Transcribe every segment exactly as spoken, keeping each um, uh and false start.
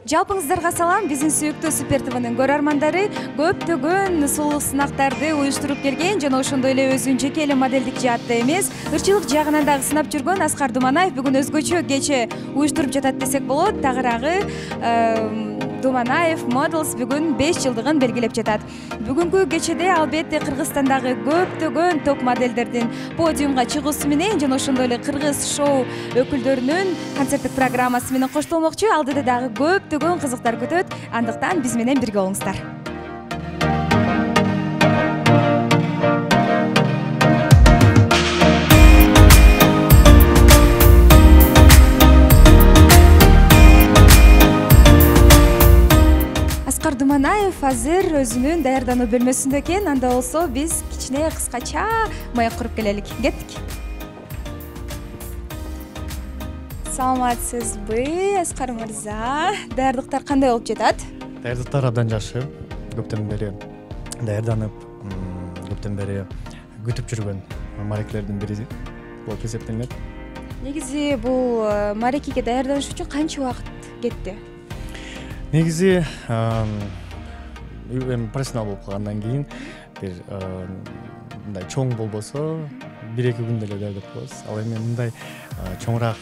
Жалпыңыздарга салам. Биздин сүйүктүү Супер ТВнын көрөрмандары көптөгөн сулуу сынактарды уюштуруп келген жана ошондой эле өзүнүн жеке эле моделдик жаатта эмес, ырчылык жагынан дагы сынап жүргөн Аскар Думанаев бүгүн өзгөчө кече уюштуруп жатат десек болот. Тагыраагы Думанаев Models бүгүн беш жылдыгын белгилеп жатат. Бүгүнкү кечеде албетте Кыргызстандагы көптөгөн топ моделдердин подиумга чыгуусу менен жана ошондой эле кыргыз шоу өкүлдөрүнүн концерттик программасы менен коштолмокчу. Алдыда дагы көптөгөн кызыктар күтөт. Андыктан биз менен бирге болуңуздар. Аскар Думанаев азыр өзүнүн даярдануу бөлмөсүндө экен. Анда болсо биз кичине кыскача маек куруп келелик. Кеттик. Саламатсызбы, Аскар мырза? Даярдыктар кандай болуп жатат? Даярдыктар абдан жакшы. Көптөн бери даярданып, көптөн бери күтүп жүргөн марекелердин бири болуп эсептелет. Негизи бул марекеге даярданыш үчүн канча убакыт кетти? Негизи эми профессионал болуп калгандан кийин бир мындай чоң болбосо бир эки күндө эле даярдап коебуз. Ал эми мындай чоңураак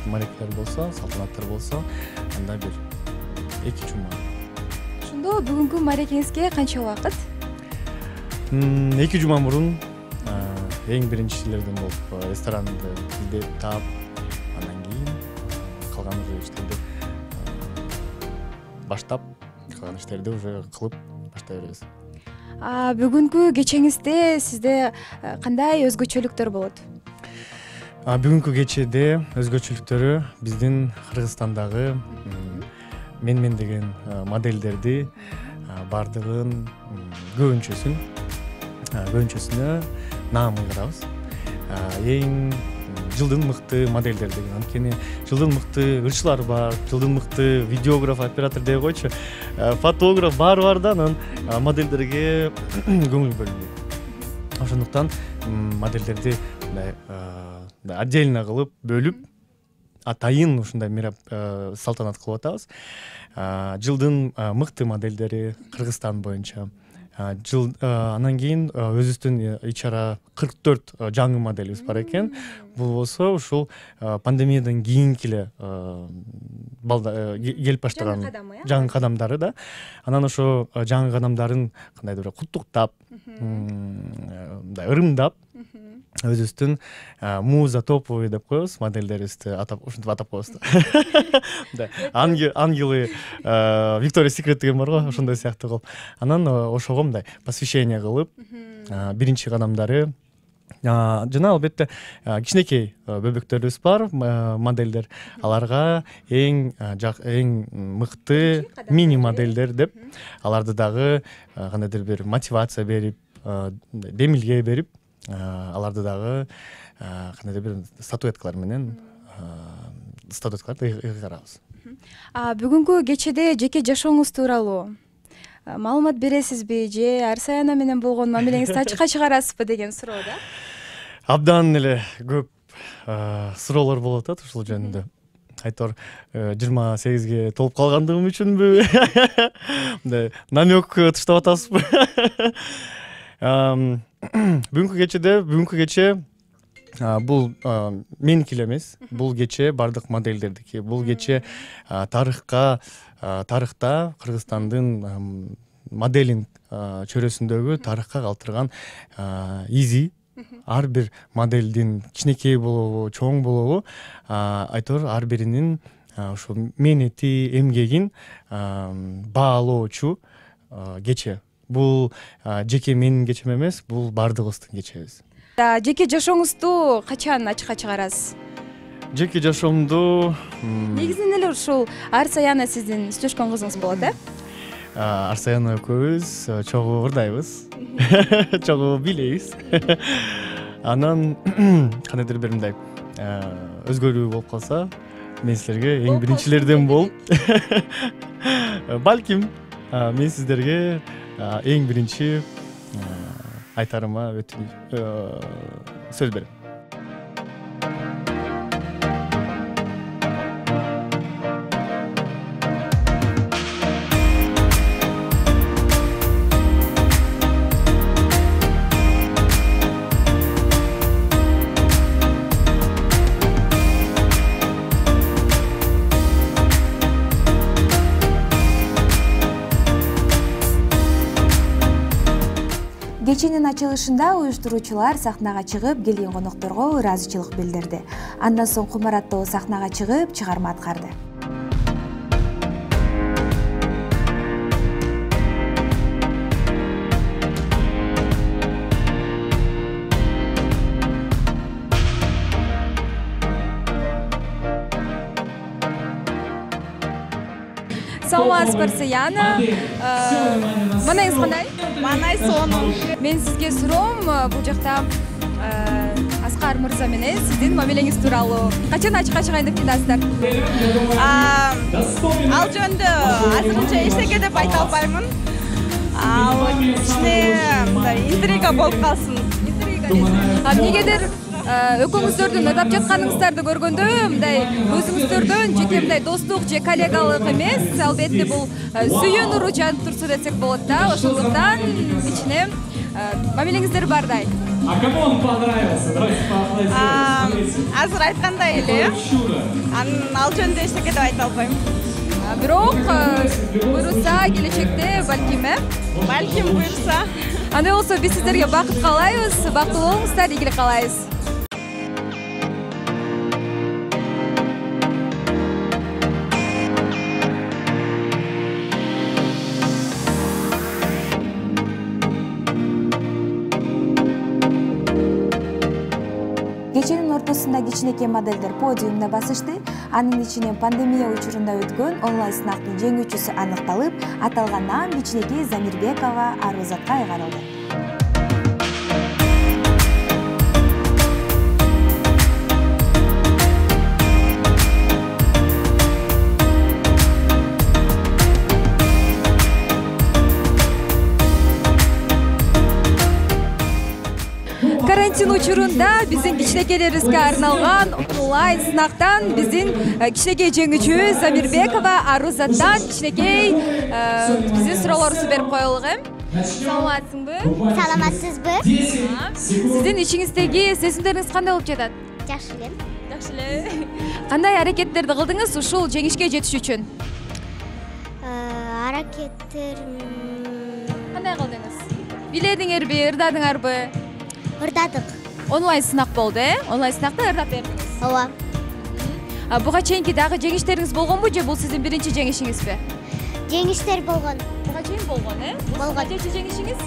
марекелер болсо, салтанаттар болсо, анда бир эки жума. Ошондо бүгүнкү марекеңизге канча убакыт? эки жума мурун эң биринчилерден болуп ресторанды издеп таап, андан кийин калган уже иштерди баштап, калган иштерди уже кылып баштай беребиз. А бүгүнкү кечеңизде сизде кандай өзгөчөлүктөр болот? Бүгүнкү кечеде өзгөчөлүктөрү биздин Кыргызстандагы мен-мен деген модельдерди бардыгын көбүнчөсүн көбүнчөсүнө наам кыйгарабыз. Эң жылдын мыкты моделдер деген. Анткени жылдын мыкты ырчылар бар, жылдын мыкты видеограф, оператор дей койчу, фотограф баары бар да, анан модельдерге көңүл бөлүнбөйт. Ошондуктан модельдерди мындай отдельно кылып, бөлүп, атайын ушундай салтанат кылып атабыз. Жылдын мыкты модельдери Кыргызстан боюнча. Жыл анан кийин өзүбүздүн ичара кырк төрт жаңы моделибиз бар экен. Бул болсо ушул пандемиядан кийинки эле келип баштаган жаңы кадамдары да. Анан ошо жаңы кадамдарын кандайдыр бир куттуктап, мындай ырымдап, өзүбүздүн муза топовый деп коебуз, модельдерибизди атап, ушинтип атап коебуз да. Ангелы Виктория Секрет деген бар го, ошондой сыяктуу кылып. Анан ошого мындай посвящение кылып, биринчи кадамдары жана албетте кичинекей бөбөктөрүбүз бар, модельдер. Аларга эң эң мыкты мини модельдер деп, аларды дагы кандайдыр бир мотивация берип, демилге берип, аларды дагы кандайдыр бир статуэткалар менен статуэткаларды ыйгарабыз. Бүгүнкү кечеде жеке жашооңуз тууралуу маалымат бересизби же Арсаяна менен болгон мамилеңизди ачыкка чыгарасызбы деген суроо да? Абдан эле көп суроолор болуп атат ушул жөнүндө. Айтор жыйырма сегизге толуп калгандыгым үчүнбү? Мындай намек таштап атасызбы? Бүгүнкү кечеде, бүгүнкү кече бул меники эле эмес, бул кече бардык модельдердики. Бул кече тарыхка, тарыхта Кыргызстандын моделинг чөйрөсүндөгү тарыхка калтырган изи. Ар бир модельдин кичинекей болобу, чоң болобу, айтор ар биринин ошо мээнети, эмгегин баалоочу кече. Бул жеке менин кечем эмес, бул бардыгыбыздын кечебиз. Жеке жашооңузду качан ачыкка чыгарасыз? Жеке жашоомду негизинен эле ушул Арсаяна сиздин сүйлөшкөн кызыңыз болот, э? Арсаяна экөөбүз чогуу ырдайбыз, чогуу бийлейбиз. Анан кандайдыр бир мындай өзгөрүү болуп калса, мен силерге эң биринчилерден болуп, балким мен сиздерге эң биринчи айтарыма сөз берем. Кеченин ачылышында уюштуруучулар сахнага чыгып, келген конокторго ыраазычылык билдирди. Андан соң Кумар аттоо сахнага чыгып, чыгарма аткарды. Саламатсызбы, Яна. Манайыңыз кандай? Манай сонун. Мен сизге суроом, бул жакта Аскар мырза менен сиздин мамилеңиз тууралуу. Качан ачыкка чыгайын деп жатасыздар? Ал жөнүндө азырынча эчтеке деп айта албаймын. Ал кичине интрига болуп калсын. Интрига дейсиз. А эмнегедир экөөңүздөрдүн ырдап жатканыңыздарды көргөндө мындай өзүңүздөрдөн жеке мындай достук же коллегалык эмес, албетте бул сүйүү нуру жанып турса десек болот да. Ошондуктан кичине мамилеңиздер бардай. А кому он понравился? Давайте поаплодируем. Азыр айткандай эле. Анын ал жөнүндө эчтеке деп айта албайм. Бирок буйруса келечекте балким, э? Балким буйруса. Андай болсо биз сиздерге бакыт каалайбыз, бактылуу болуңуздар, ийгилик каалайбыз. Кеченин ортосунда кичинекей модельдер подиумда басышты. Анын ичинен пандемия учурунда өткөн онлайн сынактын жеңүүчүсү аныкталып, аталган наам кичинекей Замирбекова Арузатка айгарылды. Карантин учурунда биздин кичинекейлерибизге арналган онлайн сынактан биздин кичинекей жеңүүчүбүз Замирбекова Арузаттан кичинекей биздин суроолорубузду берип коелук, э? Саламатсыңбы? Саламатсызбы? Сиздин ичиңиздеги сезимдериңиз кандай болуп жатат? Жакшы эле. Жакшы эле. Кандай аракеттерди кылдыңыз ушул жеңишке жетиш үчүн? Аракеттер кандай кылдыңыз? Биледиңерби, ырдадыңарбы? Ырдадык. Онлайн сынак болду, э? Онлайн сынакта ырдап бердиңиз. Ооба. Буга чейинки дагы жеңиштериңиз болгонбу же бул сиздин биринчи жеңишиңизби? Жеңиштер болгон. Буга чейин болгон, э? Болгон. Канчынчы жеңишиңиз?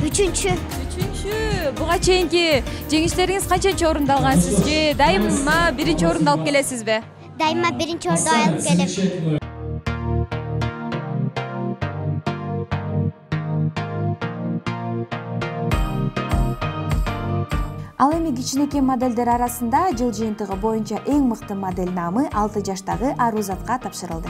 Үчүнчү. Үчүнчү. Буга чейинки жеңиштериңиз канчанчы орунду алгансыз же дайыма биринчи орунду алып келесизби? Дайыма биринчи орунду алып келем. Ал эми кичинекей модельдер арасында жыл жыйынтыгы боюнча эң мыкты модель наамы алты жаштагы Арузатка тапшырылды.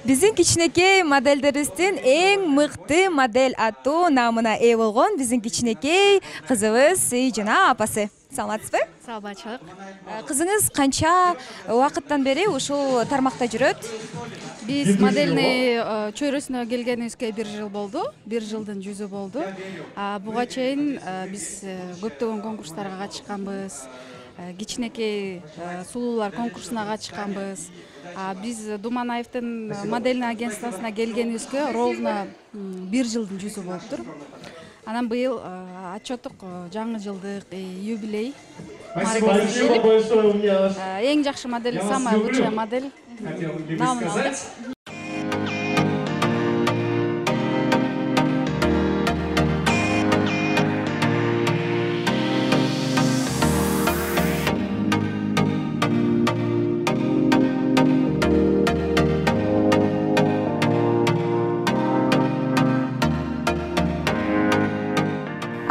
Биздин кичинекей модельдерибиздин эң мыкты модель аттуу наамына ээ болгон биздин кичинекей кызыбыз Жана апасы. Саламатсызбы? Саламатчылык. Кызыңыз канча убакыттан бери ушул тармакта жүрөт? Биз модельный чөйрөсүнө келгенибизге бир жыл болду. Бир жылдын жүзү болду. Буга чейин биз көптөгөн конкурстарга катышканбыз. Кичинекей сулуулар конкурсуна катышканбыз. Биз Думанаевдин модельный агентствосуна келгенибизге ровно бир жылдын жүзү болуптур. Анан быйыл отчеттук жаңы жылдык юбилей мааракеси келип, эң жакшы модель, самая лучшая модель наамын алдык.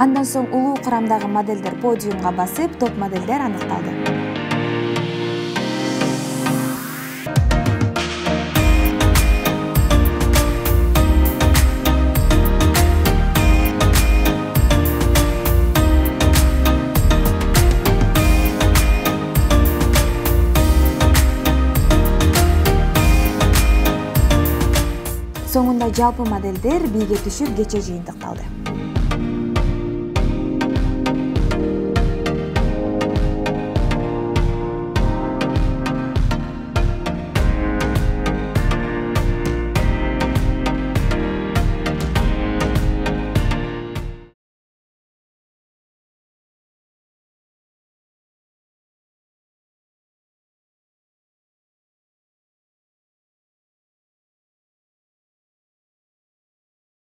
Андан соң улуу курамдагы модельдер подиумга басып, топ модельдер аныкталды. Соңунда жалпы модельдер бийге түшүп кече жыйынтыкталды.